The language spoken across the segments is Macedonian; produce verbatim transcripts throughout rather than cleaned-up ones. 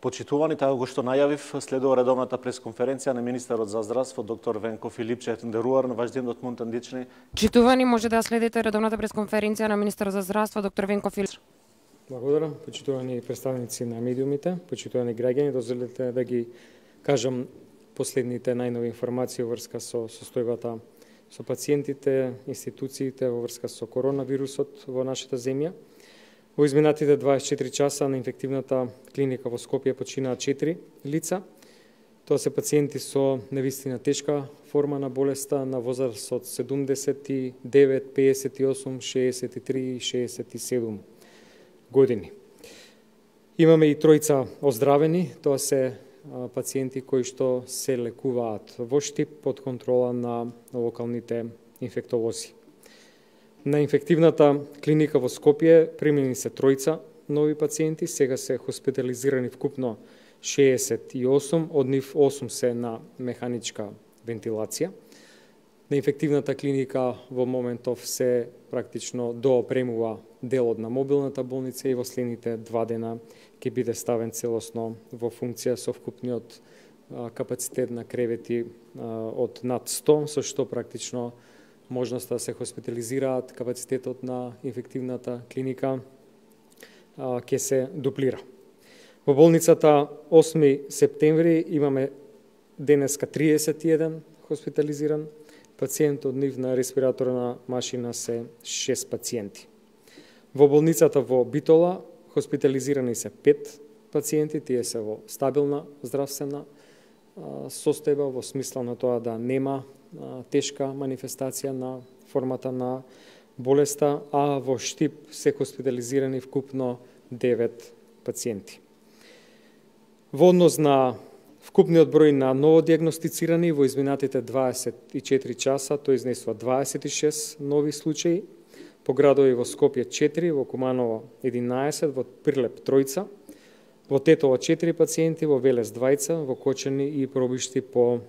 Почитувани, така го што најавив, следува редовната пресконференција на министерот за здравство доктор Венко Филипчев Деруар на ваш ден од Монтандични. Почитувани, може да следите редовната пресконференција на министерот за здравство доктор Венко Филипчев. Благодарам, почитувани представници на медиумите, почитувани граѓани, дозволете да ги кажам последните најнови информации во врска со состојбата со пациентите, институциите во врска со коронавирусот во нашата земја. Во изминатите дваесет и четири часа на инфективната клиника во Скопје починаа четири лица. Тоа се пациенти со навистина тешка форма на болеста на возраст од седумдесет и девет, педесет и осум, шеесет и три и шеесет и седум години. Имаме и тројца оздравени, тоа се пациенти кои што се лекуваат во Штип под контрола на локалните инфектолози. На инфективната клиника во Скопје примени се тројца нови пациенти, сега се хоспитализирани вкупно шеесет и осум, од нив осум се на механичка вентилација. На инфективната клиника во моментов се практично доопремува делот на мобилната болница и во следните два дена ќе биде ставен целосно во функција со вкупниот капацитет на кревети од над сто, со што практично можноста да се хоспитализираат, капацитетот на инфективната клиника ќе се дуплира. Во болницата осми септември имаме денеска триесет и еден хоспитализиран пациент, од нив на респираторна машина се шест пациенти. Во болницата во Битола хоспитализирани се пет пациенти, тие се во стабилна здравствена состојба, во смисла на тоа да нема тешка манифестација на формата на болеста, а во Штип се хоспитализирани вкупно девет пациенти. Во однос на вкупниот број на новодиагностицирани во изминатите дваесет и четири часа, тој изнесува дваесет и шест нови случаи, по градови во Скопје четири, во Куманово единаесет, во Прилеп тројца, во Тетово четири пациенти, во Велес двајца, во Кочани и Пробишти по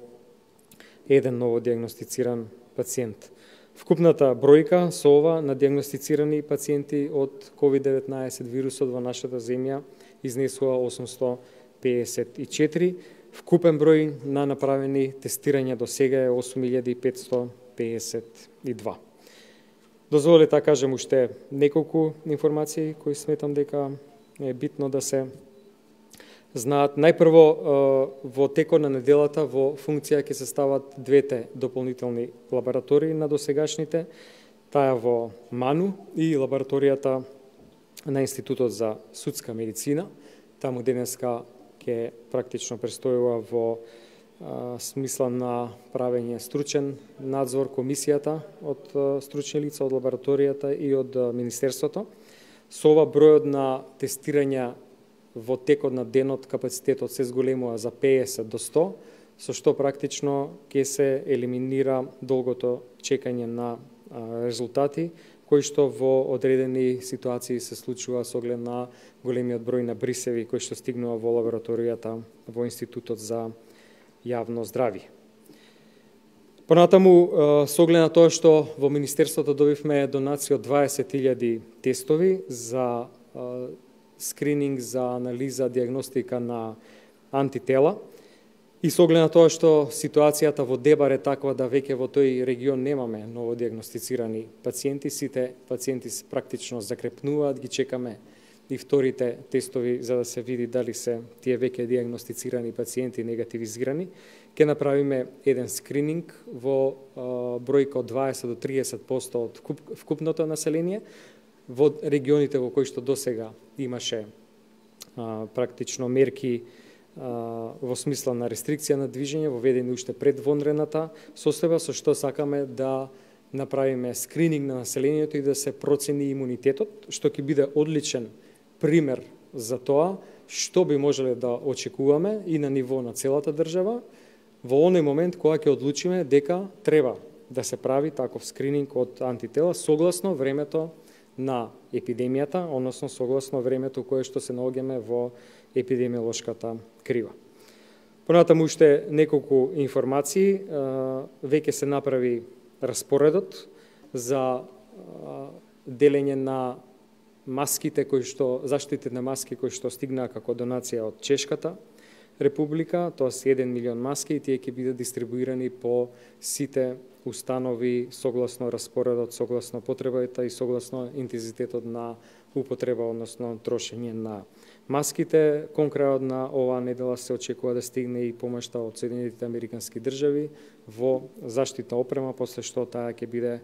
еден новодиагностициран пациент. Вкупната бројка со ова на диагностицирани пациенти од ковид деветнаесет вирусот во нашата земја изнесува осумсто педесет и четири. Вкупен број на направени тестирања до сега е осум илјади петсто педесет и два. Дозволете да кажем уште неколку информации кои сметам дека е битно да се знаат. Најпрво, во текот на неделата во функција ќе се стават двете дополнителни лаборатории на досегашните, таа во Ману и лабораторијата на Институтот за судска медицина. Таму денеска ќе практично престојува во а, смисла на правење стручен надзор комисијата од а, стручни лица од лабораторијата и од а, Министерството. Со ова бројот на тестирања во текот на денот капацитетот се зголемува за педесет до сто, со што практично ќе се елиминира долгото чекање на а, резултати, кои што во одредени ситуации се случува со оглед на големиот број на брисеви кои што стигнува во лабораторијата во Институтот за јавно здравје. Понатаму, со оглед на тоа што во Министерството добивме донација од дваесет илјади тестови за скрининг, за анализа, диагностика на антитела, и со оглед на тоа што ситуацијата во Дебар е таква да веќе во тој регион немаме новодиагностицирани пациенти, сите пациенти практично закрепнуваат, ги чекаме и вторите тестови за да се види дали се тие веќе диагностицирани пациенти негативизирани. Ќе направиме еден скрининг во а, бројка од дваесет до триесет посто од вкупното население во регионите во кои што досега имаше а, практично мерки во смисла на рестрикција на движење, воведени уште пред вонредната состојба, со што сакаме да направиме скрининг на населението и да се процени имунитетот, што ќе биде одличен пример за тоа што би можеле да очекуваме и на ниво на целата држава во оној момент кога ќе одлучиме дека треба да се прави таков скрининг од антитела согласно времето на епидемијата, односно согласно времето кое што се наоѓаме во епидемиолошката крива. Понатаму уште неколку информации. Веќе се направи распоредот за делење на маските кои што заштитите на маски кои што стигнаа како донација од Чешката Република, тоа се еден милион маски и тие ќе бидат дистрибуирани по сите установи согласно распоредот, согласно потребата и согласно интензитетот на употреба, односно трошење на маските. Кон крајот на оваа недела се очекува да стигне и помошта од Соединетите Американски држави во заштитна опрема, после што таа ќе биде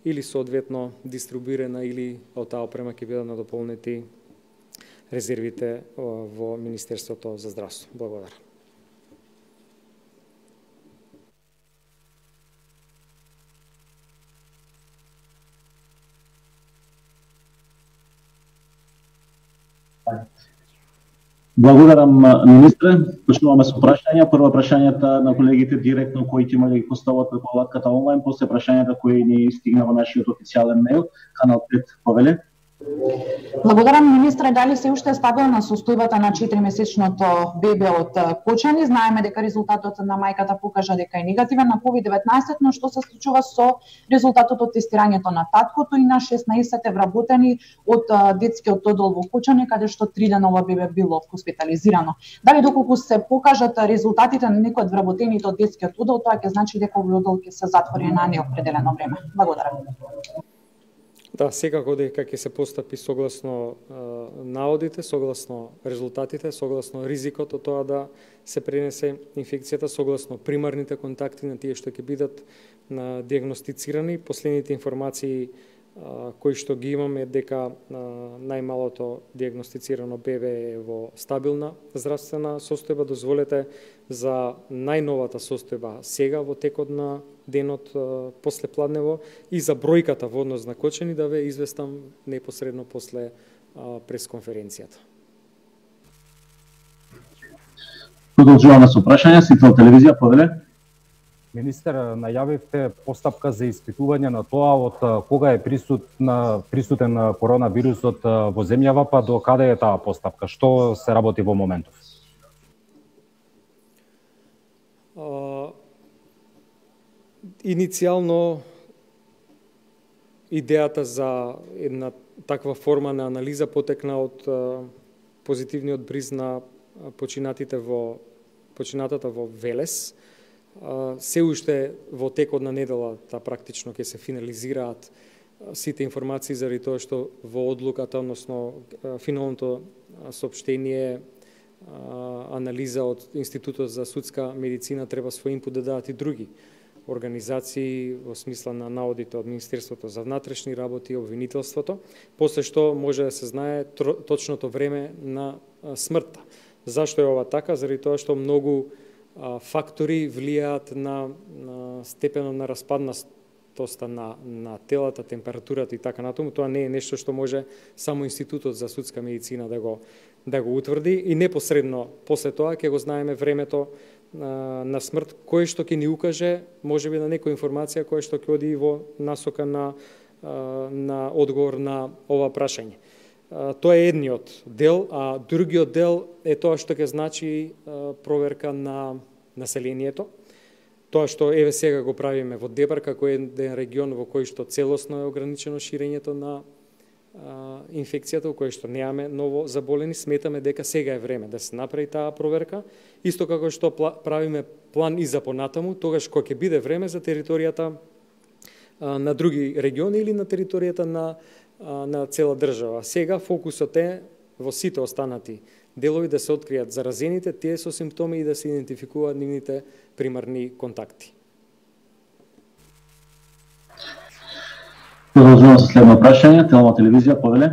или соодветно дистрибуирана или од таа опрема ќе бидат надополнети резервите во Министерството за здравство. Благодарам. Благодарам, министре. Почнуваме со прашања. Прво прашањата на колегите директно кои ќе имале ги постават преку алатката онлайн, после прашањата кои ни стигна во нашиот официјален мејл, канал пет повеле. Благодарам, министре. Дали се уште е стабилна состојбата на четиримесечното бебе од Кочани? Знаеме дека резултатот на мајката покажа дека е негативен на ковид деветнаесет, но што се случува со резултатот од тестирањето на таткото и на шеснаесет е вработени од детскиот оддел во Кочани, каде што три дена ова бебе било хоспитализирано. Дали доколку се покажат резултатите на некои од вработените од детскиот оддел, тоа ќе значи дека овој оддел ќе се затвори на неопределено време? Благодарам. Да, секако дека ќе се постапи согласно е, наодите, согласно резултатите, согласно ризикот од тоа да се пренесе инфекцијата, согласно примарните контакти на тие што ќе бидат на диагностицирани. Последните информации е, кои што ги имаме дека е, најмалото диагностицирано бебе е во стабилна здравствена состојба. Дозволете за најновата состојба сега во текот на денот после пладнево и за бројката во однос на Кочани да ве известам непосредно после пресконференцијата. Продолжуваме со прашања. Сител телевизија, повеле. Министер, најавивте постапка за испитување на тоа од кога е присутна, присутен коронавирусот во земјава, па до каде е таа постапка? Што се работи во моментов? Uh... Иницијално идејата за една таква форма на анализа потекна од позитивниот бриз на починатите во починатата во Велес. Се уште во текот на неделата практично ќе се финализираат сите информации заради тоа што во одлуката, односно финалното соопштение, анализа од Институтот за судска медицина треба свој инпут да дадат и други организации во смисла на наодите од Министерството за внатрешни работи и обвинителството, после што може да се знае точното време на смртта. Зашто е ова така? Заради тоа што многу фактори влијаат на, на степенот на распаднатоста на, на телата, температурата и така натаму. Тоа не е нешто што може само Институтот за судска медицина да го, да го утврди и непосредно после тоа ќе го знаеме времето на смрт, кое што ќе ни укаже, можеби на некоја информација која што ќе оди во насока на, на одговор на ова прашање. Тоа е едниот дел, а другиот дел е тоа што ќе значи проверка на населението. Тоа што еве сега го правиме во Дебар, како еден регион во кој што целосно е ограничено ширењето на инфекцијата, во кој што немаме ново заболени, сметаме дека сега е време да се направи таа проверка, исто како што правиме план и за понатаму, тогаш кога ќе биде време за територијата на други региони или на територијата на, на цела држава. Сега фокусот е во сите останати делови да се откријат заразените, тие со симптоми и да се идентификуваат нивните примарни контакти. Продолжуваме со следно прашање. Телма телевизија, повеле.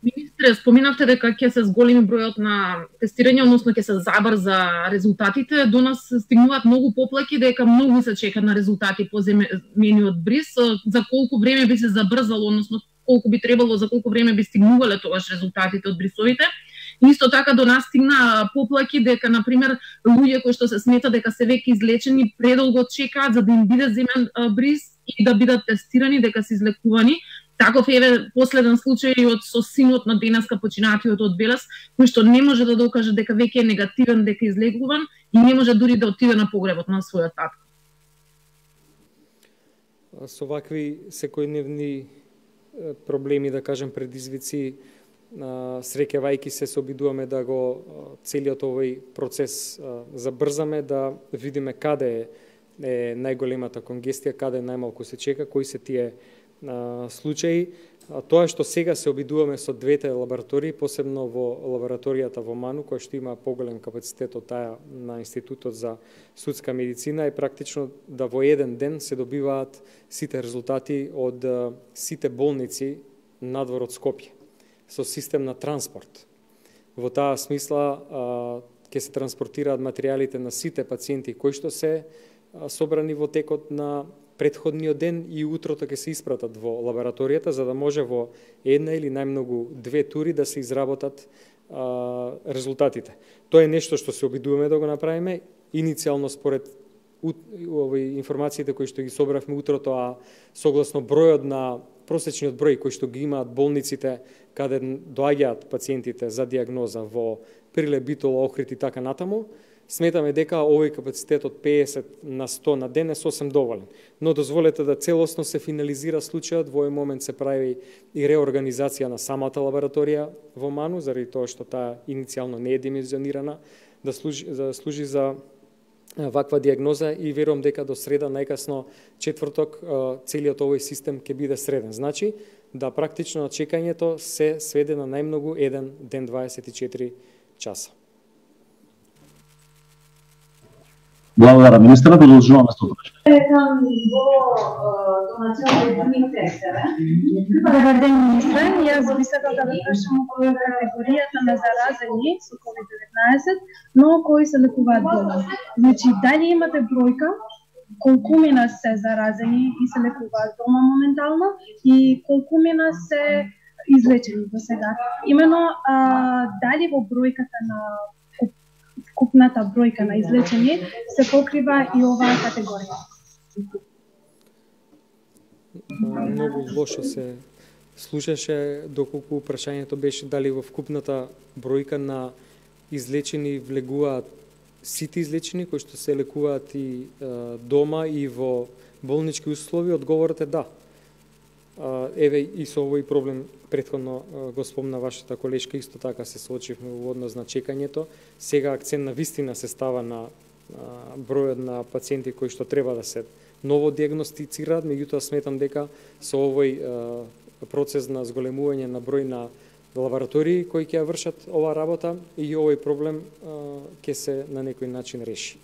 Министре, споменавте дека ќе се зголеми бројот на тестирање, односно ќе се забрза резултатите. До нас стигнуваат многу поплаки дека многу се чека на резултати по земениот бриз. За колку време би се забрзало, односно колку би требало, за колку време би стигнувале тогаш резултатите од брисовите? Исто така до нас стигна поплаки дека, например, луѓе кои што се смета дека се веќе излечени предолго чекаат за да им биде земен бриз и да бидат тестирани дека се излекувани. Таков еве последен случај од со синот на денеска починатиот од Велес, кој што не може да докаже дека веќе е негативен, дека е излекуван и не може дури да отиде на погребот на својот татко. Со вакви секојдневни проблеми, да кажем, предизвици, среќавајќи се, се обидуваме да го целиот овој процес забрзаме, да видиме каде е, е најголемата конгестија, каде најмалку се чека, кои се тие а, случаи. А тоа што сега се обидуваме со двете лаборатории, посебно во лабораторијата во Ману, која што има поголем капацитет од таа на Институтот за судска медицина, е практично да во еден ден се добиваат сите резултати од сите болници надвор од Скопје, со систем на транспорт. Во таа смисла ќе се транспортираат материјалите на сите пациенти кои што се а, собрани во текот на предходниот ден и утрото ќе се испратат во лабораторијата, за да може во една или најмногу две тури да се изработат а, резултатите. Тоа е нешто што се обидуваме да го направиме. Иницијално според овој информациите кои што ги собравме утрото, а согласно бројот на просечниот број кои што ги имаат болниците каде доаѓаат пациентите за диагноза во Прилеп, Битола, Охрид и така натаму, сметаме дека овој капацитет од педесет на сто на ден е сосем доволен. Но дозволете да целосно се финализира случајот, во овој момент се прави и реорганизација на самата лабораторија во Ману, заради тоа што таа иницијално не е димензионирана да служи, да служи за ваква диагноза и верувам дека до среда, најкасно четврток, целиот овој систем ќе биде среден. Значи, да практично чекањето се сведе на најмногу еден ден дваесет и четири часа. Благодарам, министра, продолжуваме со прашање. Добар ден, министре. Јас би сакал да ве прашам околу категоријата на заразени со ковид деветнаесет, но кои се лекуваат дома. Значи, дали имате бројка колку мина се заразени и се лекуваат дома моментално и колку мина се излечени до сега? Имено, а, дали во бројката на вкупната бројка на излечени се покрива и оваа категорија? Многу лошо се слушаше доколку прашањето беше дали во вкупната бројка на излечени влегуваат сите излечени кои што се лекуваат и е, дома и во болнички услови. Одговорот е да. Еве и со овој проблем претходно го спомна вашата колешка, исто така се соочивме во однос на чекањето. Сега акцент на вистина се става на бројот на пациенти кои што треба да се ново диагностицираат, меѓутоа сметам дека со овој процес на зголемување на број на лаборатории кои ќе ја вршат оваа работа и овој проблем ќе се на некој начин реши.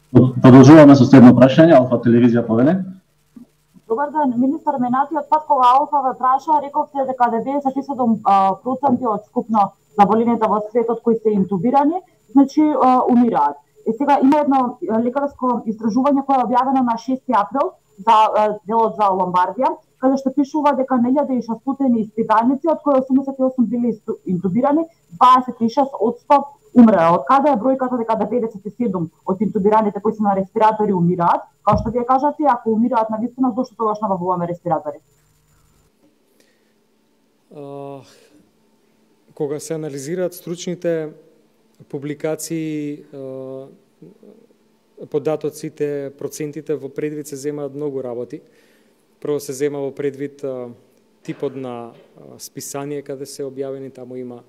Продолжуваме со следно прашање, Алфа телевизија повеле. Добар ден, министар, минатиот пат кога Алфа ве праша, рековте дека деветдесет и седум проценти од скупно заболените во светот кои се интубирани, значи умираат. И сега има едно лекарско истражување кое е објавено на шести април за делот за Ломбардија, каде што пишува дека на илјада и шестстотини испитаници, од кои осумдесет и осум били интубирани, дваесет и шест одсто умреа. Од каде е бројката дека деветдесет и седум од интубираните кои се на респиратори умираат? Као што вие кажате, ако умираат на вистина, зошто тогаш набавуваме респиратори? Uh, кога се анализираат стручните публикации, uh, податоците, процентите во предвид се земаат многу работи. Прво се зема во предвид uh, типот на uh, списание каде се објавени, таму има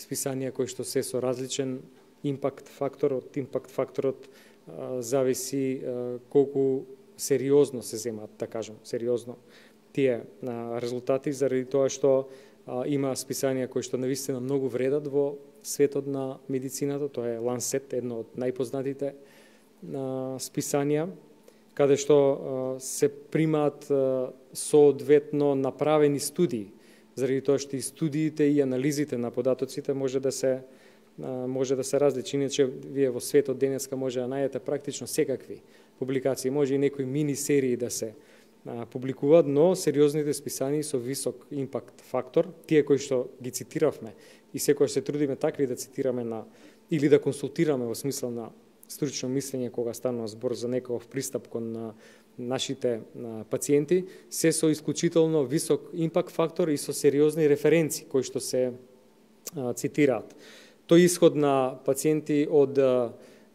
списанија кои што се со различен импакт фактор. Од импакт факторот а, зависи а, колку сериозно се земаат, да кажам, сериозно тие а, резултати, заради тоа што а, има списанија кои што навистина многу вредат во светот на медицината. Тоа е Lancet, едно од најпознатите а, списанија, каде што а, се примаат а, соодветно направени студии, заради тоа што и студиите и анализите на податоците може да се може да се различи. Иначе вие во светот денеска може да најдете практично секакви публикации, може и некои мини серии да се а, публикуваат, но сериозните списанија со висок импакт фактор, тие кои што ги цитиравме и секој се трудиме такви да цитираме на или да консултираме во смисла на стручно мислење кога станува збор за некој пристап кон на нашите а, пациенти, се со исклучително висок импакт фактор и со сериозни референци кои што се а, цитираат. Тој исход на пациенти од а,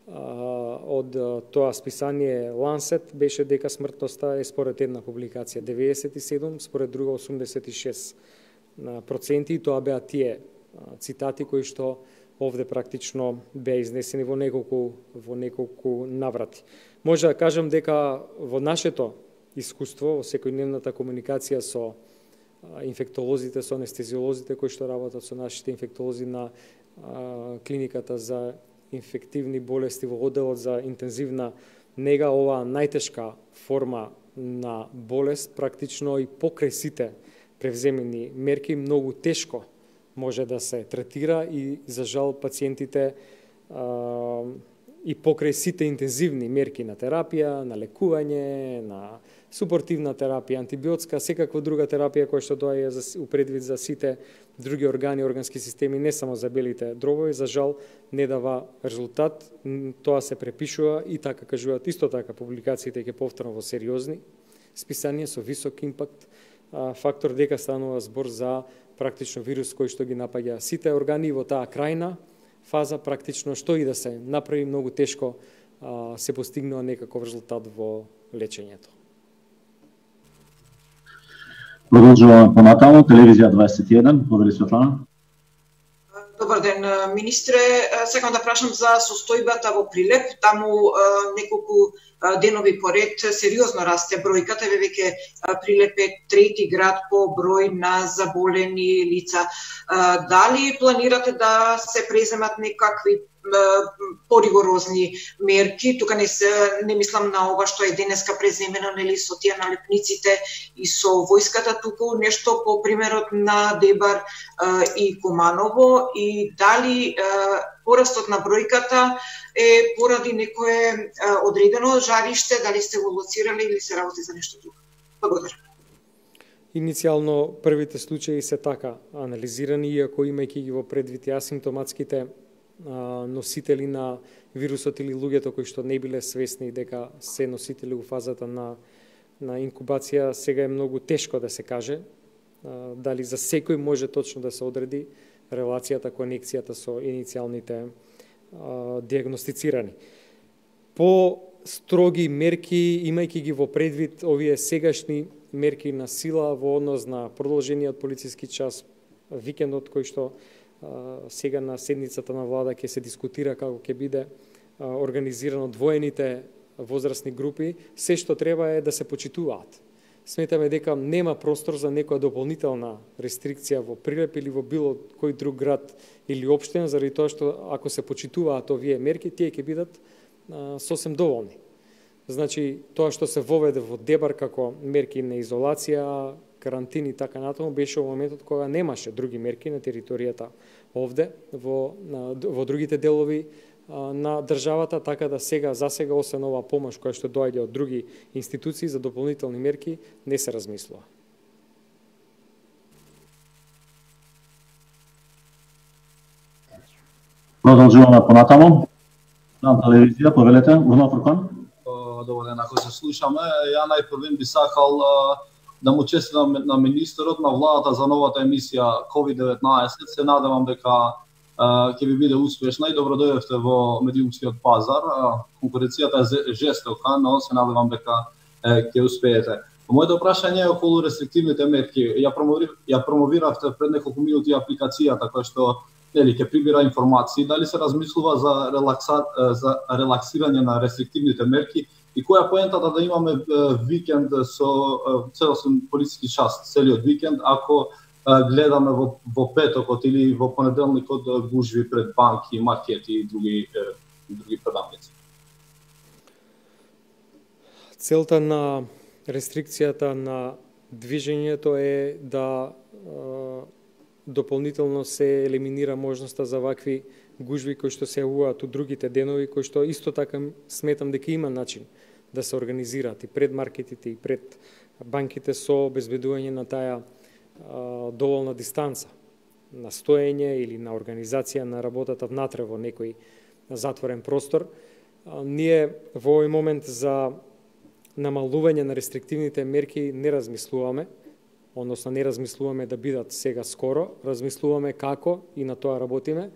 од тоа списание Lancet беше дека смртноста е според една публикација деветдесет и седум, според друга осумдесет и шест проценти, и тоа беа тие цитати кои што овде практично беа изнесени во неколку во неколку наврати. Може да кажам дека во нашето искуство, во секојдневната комуникација со инфектолозите, со анестезиолозите кои што работат со нашите инфектолози на клиниката за инфективни болести во одделот за интензивна нега, оваа најтешка форма на болест практично и покрај сите превземени мерки многу тешко може да се третира и за жал пациентите а, и покрај сите интензивни мерки на терапија, на лекување, на супортивна терапија, антибиотска, секаква друга терапија која што доаѓа за упредвид за сите други органи, органски системи, не само за белите дробови, за жал не дава резултат. Тоа се препишува и така кажуваат исто така публикациите, ќе повторам, во сериозни списанија со висок импакт фактор, дека станува збор за практично вирус кој што ги напаѓа сите органи во таа крајна фаза, практично што и да се направи многу тешко а, се постигнува некаков резултат во лечењето. Продолжуваме понатаму, телевизија дваесет и еден, повели Светлана. Добар ден, министре. Сакам да прашам за состојбата во Прилеп. Таму неколку денови поред сериозно расте бројката, веќе Прилеп е трети град по број на заболени лица. Дали планирате да се преземат некакви поригорозни мерки? Тука не се не мислам на ова што е денеска преземено, нели, со тие налепниците и со војската, туку нешто по примерот на Дебар и Куманово, и дали порастот на бројката е поради некое одредено жариште, дали сте го лоцирали или се работи за нешто друго? Благодарам. Иницијално првите случаи се така анализирани, иако имајќи ги во предвид асимптоматските носители на вирусот или луѓето кои што не биле свесни дека се носители во фазата на, на инкубација, сега е многу тешко да се каже дали за секој може точно да се одреди релацијата, конекцијата со иницијалните а, диагностицирани. По строги мерки, имајќи ги во предвид овие сегашни мерки на сила во однос на продолжениот полициски час, викендот кој што сега на седницата на влада ќе се дискутира како ќе биде организирано двоените возрастни групи, се што треба е да се почитуваат. Сметаме дека нема простор за некоја дополнителна рестрикција во Прилеп или во било кој друг град или општина, заради тоа што ако се почитуваат овие мерки, тие ќе бидат а, сосем доволни. Значи, тоа што се воведе во Дебар како мерки на изолација, карантини и така натаму, беше во моментот кога немаше други мерки на територијата овде, во, на, во другите делови а, на државата, така да сега, за сега, освен оваа помош која што доаѓа од други институции за дополнителни мерки, не се размислува. Продолжуваме понатаму. На телевизија, повелете, Урно Фуркан. Добар ден, ако се слушаме, ја најпрвен би сакал да му честитам на министерот, на владата за новата емисија ковид деветнаесет. Се надевам дека ќе ви биде успешна и добро дојдовте во медиумскиот пазар. Конкуренцијата е жестока, но се надевам дека ќе успеете. Моето прашање е околу рестриктивните мерки. Ја, промови, ја промовиравте пред неколку минути апликацијата која што нели ќе прибира информации. Дали се размислува за релакса, за релаксирање на рестриктивните мерки? И која е поентата да имаме викенд со целосен полициски час, целиот викенд, ако гледаме во, во петокот или во понеделникот гужви пред банки, маркети и други, други предавници? Целта на рестрикцијата на движењето е да дополнително се елиминира можноста за вакви гужви кои што се јавуваат у другите денови, кои што исто така сметам дека има начин да се организираат и пред маркетите и пред банките со обезбедување на таа а, доволна дистанца на стоење или на организација на работата внатре во некој затворен простор. А, ние во овој момент за намалување на рестриктивните мерки не размислуваме, односно не размислуваме да бидат сега скоро, размислуваме како и на тоа работиме.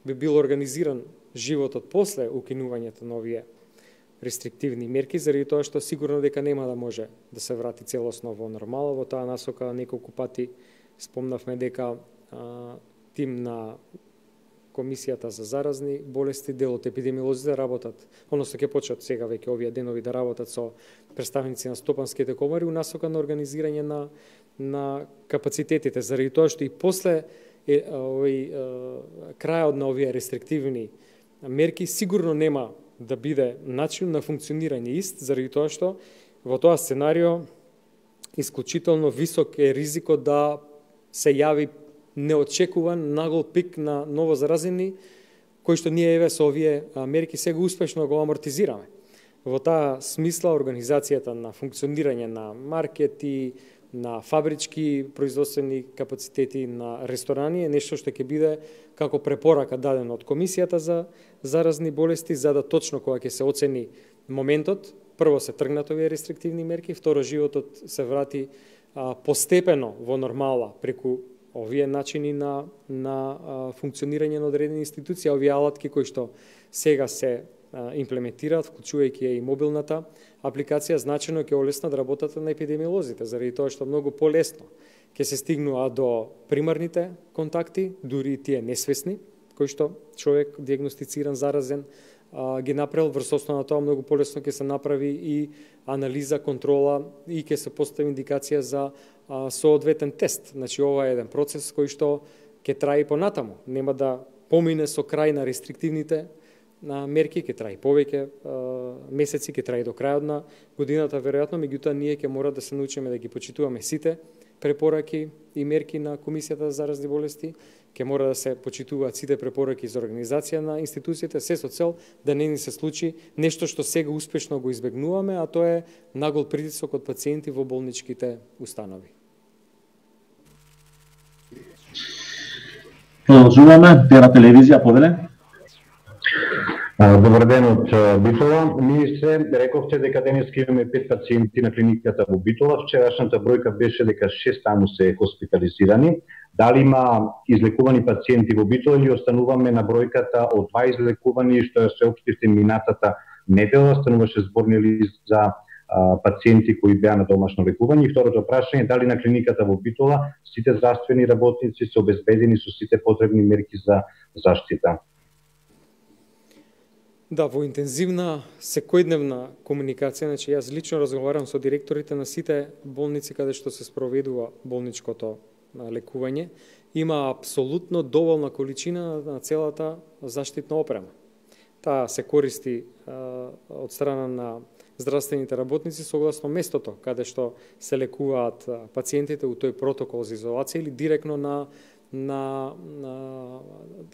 Би бил организиран животот после укинувањето на овие рестриктивни мерки, заради тоа што сигурно дека нема да може да се врати целосно во нормала. Во таа насока неколку пати спомнавме дека а, тим на Комисијата за заразни болести, дел од епидемиолозите работат, односно ќе почнат сега веќе овие денови да работат со представници на стопанските комори у насока на организирање на на капацитетите, заради тоа што и после е, овој е, крајот на овие рестриктивни мерки сигурно нема да биде начин на функционирање ист, заради тоа што во тоа сценарио исклучително висок е ризикот да се јави неочекуван нагол пик на ново заразени, кој што ние еве со овие мерки сега успешно го амортизираме. Во таа смисла организацијата на функционирање на маркети, на фабрички производствени капацитети, на ресторани е нешто што ќе биде како препорака дадено од Комисијата за заразни болести, за да точно кога ќе се оцени моментот, прво се тргнат овие рестриктивни мерки, второ животот се врати а, постепено во нормала преку овие начини на, на а, функционирање на одредени институции, овие алатки кои што сега се а, имплементираат, вклучувајќи и мобилната апликација, значено ќе олеснат работата на епидемиолозите, заради тоа што многу полесно ќе се стигнува до примарните контакти, дури и тие несвесни, кои што човек диагностициран заразен а, ги направил, врз основа на тоа многу полесно ќе се направи и анализа, контрола и ќе се постави индикација за а, соодветен тест. Значи ова е еден процес кој што ќе трае понатаму, нема да помине со крај на рестриктивните на мерки, ќе трае повеќе месеци, ќе трае до крајот на годината веројатно, меѓутоа ние ќе мора да се научиме да ги почитуваме сите препораки и мерки на Комисијата за заразни болести, ќе мора да се почитуваат сите препораки за организација на институциите, се со цел да не ни се случи нешто што сега успешно го избегнуваме, а тоа е нагол притисок од пациенти во болничките установи. Продолжуваме, Тера телевизија, повеле. Добар ден од Битола. Министре, рековте дека денеска имаме пет пациенти на клиниката во Битола. Вчерашната бројка беше дека шест таму се хоспитализирани. Дали има излекувани пациенти во Битола или остануваме на бројката од два излекувани, што ја се општивте минатата недела, стануваше зборни лист за а, пациенти кои беа на домашно лекување? И второто прашање, дали на клиниката во Битола сите здравствени работници се обезбедени со сите потребни мерки за заштита? Да, во интензивна секојдневна комуникација, значи јас лично разговарам со директорите на сите болници каде што се спроведува болничкото лекување, има апсолутно доволна количина на целата заштитна опрема. Таа се користи а, од страна на здравствените работници согласно местото каде што се лекуваат пациентите у тој протокол за изолација или директно на на, на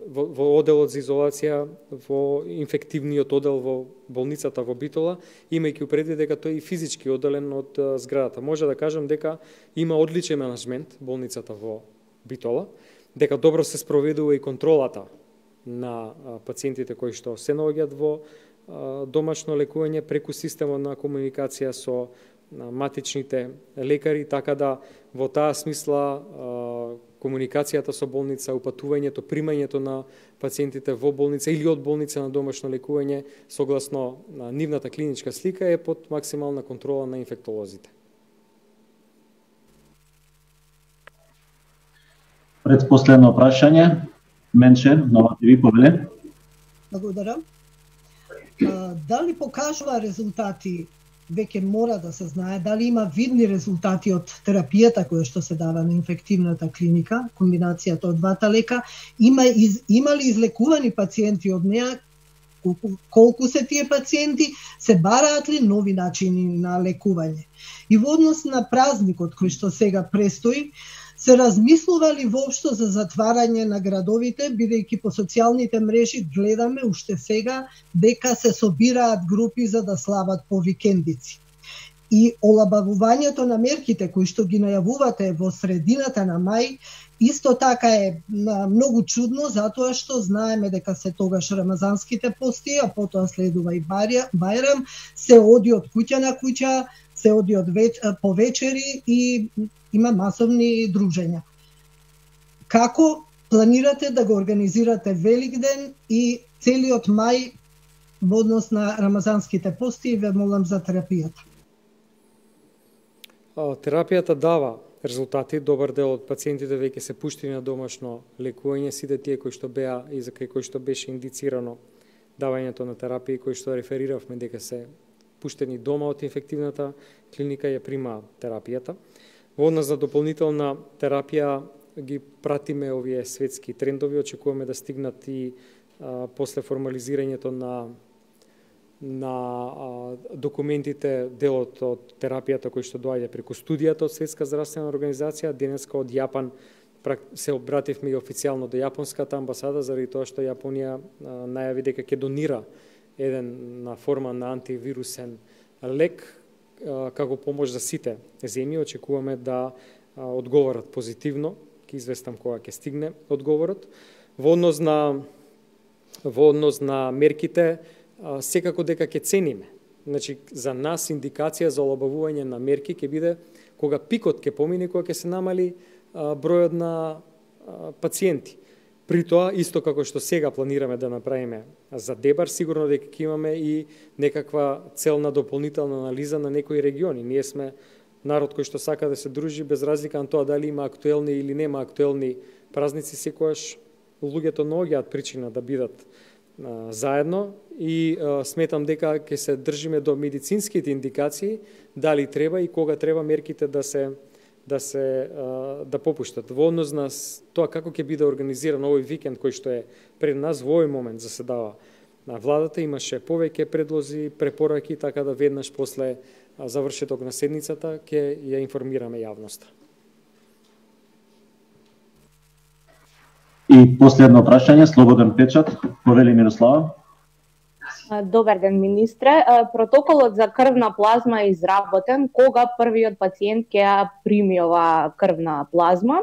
во, во оделот за изолација во инфективниот одел во болницата во Битола, имајќи предвид дека тој е и физички одделен од зградата. Може да кажам дека има одличен менаџмент болницата во Битола, дека добро се спроведува и контролата на пациентите кои што се наоѓаат во домашно лекување преку системот на комуникација со матичните лекари, така да во таа смисла комуникацијата со болница, упатувањето, примањето на пациентите во болница или од болница на домашно лекување согласно нивната клиничка слика е под максимална контрола на инфектолозите. Предпоследно прашање, Менче, Нова ТВ, повеле. Благодарам. А, дали покажува резултати, веќе мора да се знае, дали има видни резултати од терапијата која што се дава на инфективната клиника, комбинацијата од двата лека, има, из, има ли излекувани пациенти од неа, колку, колку се тие пациенти, се бараат ли нови начини на лекување? И во однос на празникот кој што сега престои, се размислува ли воопшто за затварање на градовите, бидејќи по социјалните мрежи гледаме уште сега дека се собираат групи за да слават по викендици. И олабавувањето на мерките кои што ги најавувате во средината на мај, исто така е многу чудно, затоа што знаеме дека се тогаш рамазанските пости, а потоа следува и Бајрам, се оди од куќа на куќа, се оди од веч... по вечери и има масовни дружења. Како планирате да го организирате Великден и целиот мај во однос на рамазанските пости и ве молам за терапијата. Терапијата дава резултати, добар дел од пациентите веќе се пуштени на домашно лекување, сите тие кои што беа и за кои што беше индицирано давањето на терапија, кои што рефериравме дека се пуштени дома од инфективната клиника, ја прима терапијата. Во однос на дополнителна терапија ги пратиме овие светски трендови, очекуваме да стигнат и а, после формализирањето на на а, документите, делот од терапијата кој што доаѓа преку студијата од Светска здравствена организација. Денеска од Јапан се обративме и официјално до Јапонската амбасада, заради тоа што Јапонија а, најави дека ќе донира еден на форма на антивирусен лек а, како помош за сите земји. Очекуваме да а, одговорат позитивно, ќе известам кога ќе стигне одговорот. Во однос на во однос на мерките, секако дека ќе цениме. Значи, за нас индикација за олабавување на мерки ќе биде кога пикот ќе помине, кога ќе се намали а, бројот на а, пациенти. При тоа, исто како што сега планираме да направиме за Дебар, сигурно дека ќе имаме и некаква целна дополнителна анализа на некои региони. Ние сме народ кој што сака да се дружи без разлика на тоа дали има актуелни или нема актуелни празници, секогаш луѓето наоѓаат причина да бидат а, заедно и а, сметам дека ќе се држиме до медицинските индикации, дали треба и кога треба мерките да се да се а, да попуштат. Во однос на тоа како ќе биде организиран овој викенд кој што е пред нас, во овој момент заседава на владата, имаше повеќе предлози, препораки, така да веднаш после завршеток на седницата ќе ја информираме јавноста. И последно прашање, слободен печат, повели Мирослава. Добар ден, министре. Протоколот за крвна плазма е изработен. Кога првиот пациент ќе ја прими ова крвна плазма?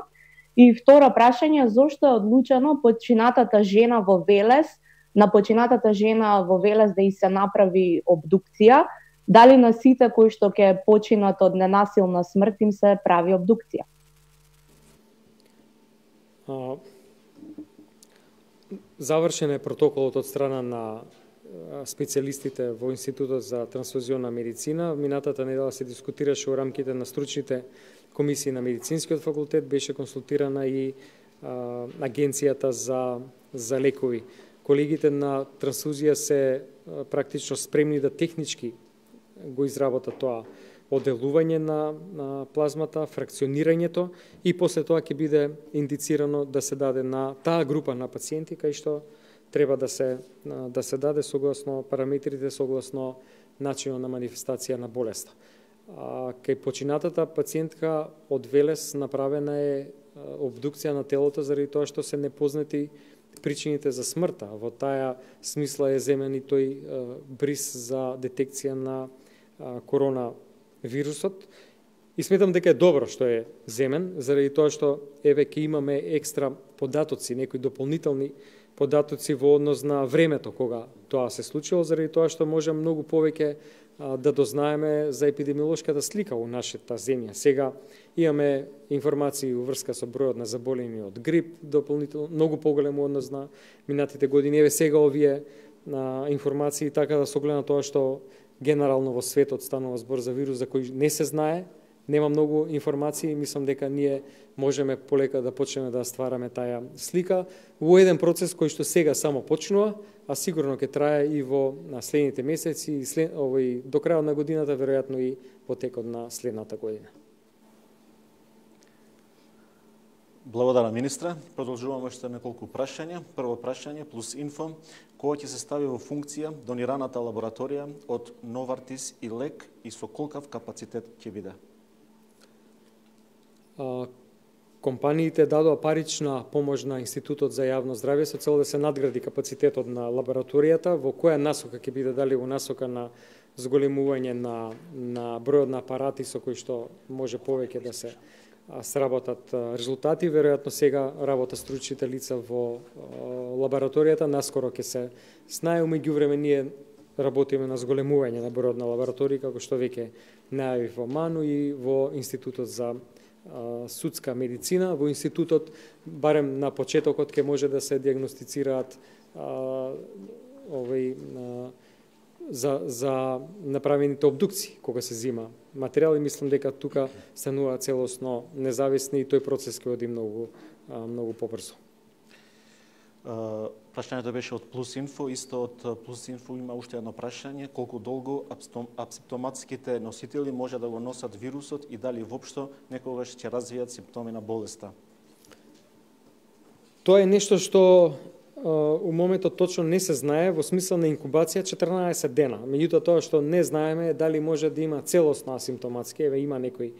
И второ прашање, зошто е одлучено починатата жена во Велес, на починатата жена во Велес да и се направи обдукција? Дали на сите кои што ќе починат од ненасилна смрт им се прави обдукција? А, завршен е протоколот од страна на специјалистите во Институтот за трансфузионна медицина. Минатата недела се дискутираше во рамките на стручните комисии на медицинскиот факултет, беше консултирана и а, агенцијата за за лекови. Колегите на трансфузија се а, практично спремни да технички го изработат тоа оделување на, на плазмата, фракционирањето и после тоа ќе биде индицирано да се даде на таа група на пациенти кај што треба да се да се даде согласно параметрите, согласно начинот на манифестација на болеста. А, кај починатата пациентка од Велес направена е обдукција на телото заради тоа што се непознати причините за смртта. Во таа смисла е земен и тој бриз за детекција на коронавирусот. И сметам дека е добро што е земен, заради тоа што еве ќе имаме екстра податоци, некои дополнителни податоци во однос на времето кога тоа се случило, заради тоа што може многу повеќе а, да дознаеме за епидемиолошката слика во нашата земја. Сега имаме информации во врска со бројот на заболени од грип, дополнително многу поголем однос на минатите години. Еве сега овие а, информации, така да се огледа тоа што генерално во светот станува збор за вирус за кој не се знае, нема многу информации, мислам дека ние можеме полека да почнеме да ствараме таа слика во еден процес кој што сега само почнува, а сигурно ќе трае и во следните месеци, и след, овој, до крајот на годината, веројатно и во текот на следната година. Благодарам, министре. Продолжуваме уште неколку прашања. Прво прашање плюс инфо. Кога ќе се стави во функција донираната лабораторија од Новартис и лек и со колкав капацитет ќе биде? А, компаниите дадоа парична помош на Институтот за јавно здравје со цел да се надгради капацитетот на лабораторијата. Во која насока ќе биде, дали во насока на зголемување на, на бројот на апарати со кои што може повеќе да се сработат резултати. Веројатно сега работа стручните лица во лабораторијата, наскоро ќе се знае. Меѓувреме ние работиме на зголемување на бројот на лаборатории, како што веќе најавив во МАНУ и во Институтот за а, судска медицина. Во институтот, барем на почетокот, ќе може да се диагностицираат а, овој, а, за, за направените обдукции, кога се зима материјал, и мислам дека тука станува целосно независни и тој процес ќе оди многу, а, многу побрзо. Uh, прашањето беше од Плюс Инфо, исто од Плюс Инфо има уште едно прашање, колку долго апсимптоматските носители може да го носат вирусот и дали воопшто некогаш ќе развијат симптоми на болеста? Тоа е нешто што uh, у моментот точно не се знае, во смисла на инкубација четрнаесет дена. Меѓутоа тоа што не знаеме е дали може да има целосно асимптоматски, еве има некои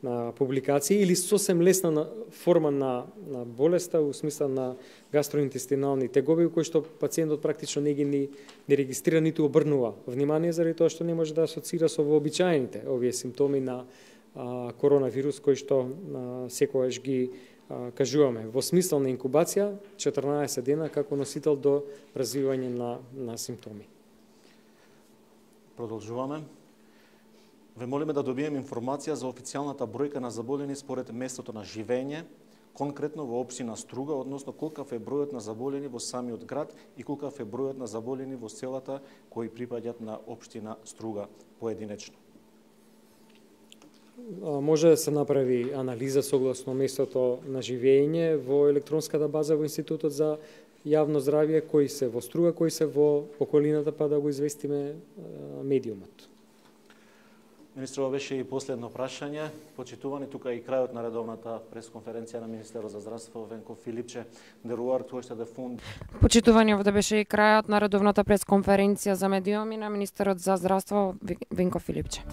на публикации, или сосем лесна форма на, на болеста, у смисла на гастроинтестинални тегоби, кои што пациентот практично не ги ни, не регистрира, ниту обрнува внимание, заради тоа што не може да асоцира со вообичаените овие симптоми на а, коронавирус, кои што а, секогаш ги а, кажуваме. Во смисла на инкубација, четрнаесет дена како носител до развивање на, на симптоми. Продолжуваме. Ве молиме да добиеме информација за официјалната бројка на заболени според местото на живење, конкретно во општина Струга, односно колкав е бројот на заболени во самиот град и колкав е бројот на заболени во селата кои припаѓаат на општина Струга поединечно. Може да се направи анализа согласно местото на живење во електронската база во Институтот за јавно здравје, кои се во Струга, кои се во околината, па да го известиме медиумот. Министрова, беше и последно прашање. Почитувани, тука и крајот на редовната пресконференција на Министерот за здравство Венко Филипче. Деруар, тоа што да фунд. Почитувани, овде беше и крајот на редовната пресконференција за медиуми на Министерот за здравство Венко Филипче.